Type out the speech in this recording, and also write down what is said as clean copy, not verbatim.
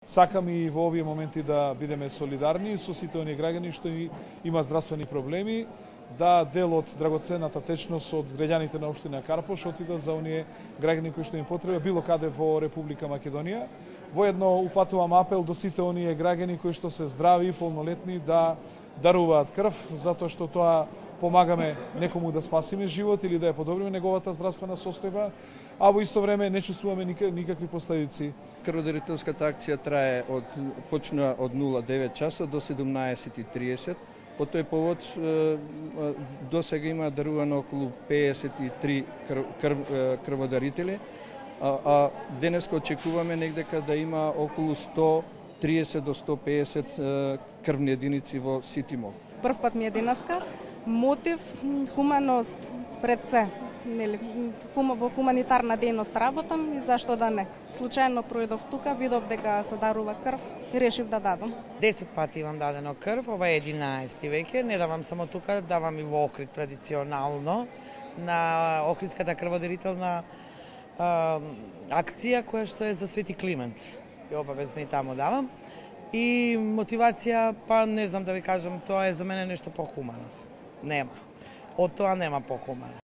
Сакам и во овие моменти да бидеме солидарни со сите оние граѓани што има здравствени проблеми, да дел од драгоценната течност од граѓаните на општина Карпош отидат за оние граѓани кои што им потреба било каде во Република Македонија. Воедно упатувам апел до сите оние граѓани кои што се здрави и полнолетни да даруваат крв, затоа што тоа помагаме некому да спасиме живот или да ја подобриме неговата здравствена состојба, а во исто време не чувствуваме никакви последици. Крводарителската акција почна од 09 часа до 17:30. По тој повод досега има дарувано околу 53 крводарители, а денеска очекуваме негдека да има околу 130 до 150 крвни единици во Ситимо. Прв пат ми е денеска. Мотив, хуманост пред се. Во хуманитарна дејност работам и зашто да не. Случајно пројдов тука, видов дека се дарува крв и решив да дадам. 10 пати имам дадено крв, ова е 11 веќе. Не давам само тука, давам и во Охрид традиционално на Охридската крводарителна акција која што е за Свети Климент. И обавезно и таму давам. И мотивација, па не знам да ви кажам, тоа е за мене нешто похумано. Нема. Од тоа нема похумано.